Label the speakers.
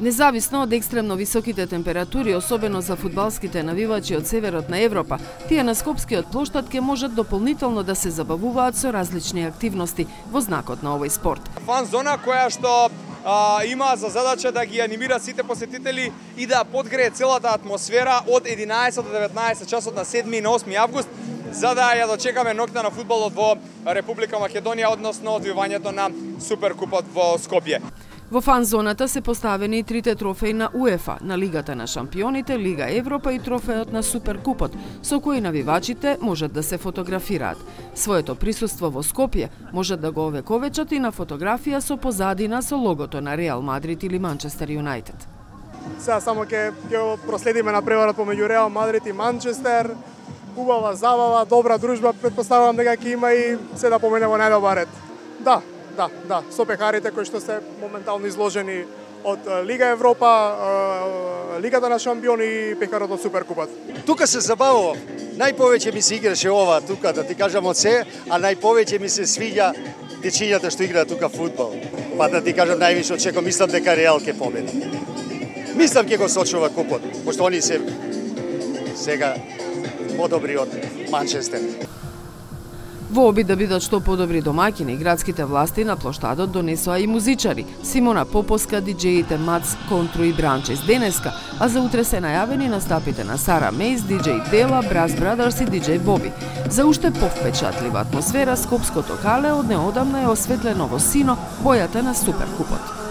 Speaker 1: Независно од екстремно високите температури, особено за фудбалските навивачи од северот на Европа, тие на Скопскиот плоштад ќе можат дополнително да се забавуваат со различни активности во знакот на овој спорт.
Speaker 2: Фан зона која што има за задача да ги анимира сите посетители и да подгрее целата атмосфера од 11 до 19 часот на 7 и на 8 август, за да ја дочекаме ноќта на фудбалот во Република Македонија, односно одвивањето на Суперкупот во Скопје.
Speaker 1: Во фан зоната се поставени и трите трофеи на УЕФА, на Лигата на шампионите, Лига Европа и трофеот на Суперкупот, со кои навивачите можат да се фотографираат. Своето присуство во Скопје можат да го овековечат и на фотографија со позадина со логото на Реал Мадрид или Манчестер Юнајтед.
Speaker 3: Сега само ќе проследиме на преварот помеѓу Реал Мадрид и Манчестер. Убава забава, добра дружба, претпоставувам дека ќе има и се да помене во најдобар ред. Да, со пехарите кои што се моментално изложени од Лига Европа, Лигата на шампиони и пехарот од Суперкупот.
Speaker 4: Тука се забавував. Најповеќе ми се играше ова тука, да ти кажам од се, а најповеќе ми се свиѓа дечињата што играат тука фудбал. Па да ти кажам највише очекувам, мислам дека Реал ќе победи. Мислам ќе го сочува купот, пошто они се сега подобри од Манчестер.
Speaker 1: Во обид да бидат што подобри домаќини, градските власти на плоштадот донесоа и музичари: Симона Поповска, диџеите Мац, Контру и Бранчес денеска, а за утре се најавени настапите на Сара Мейс, диџеј Тела, Брас Брадърс и диџеј Боби. За уште повпечатлива атмосфера, Скопското кале од неодамна е осветлено во сино, бојата на Суперкупот.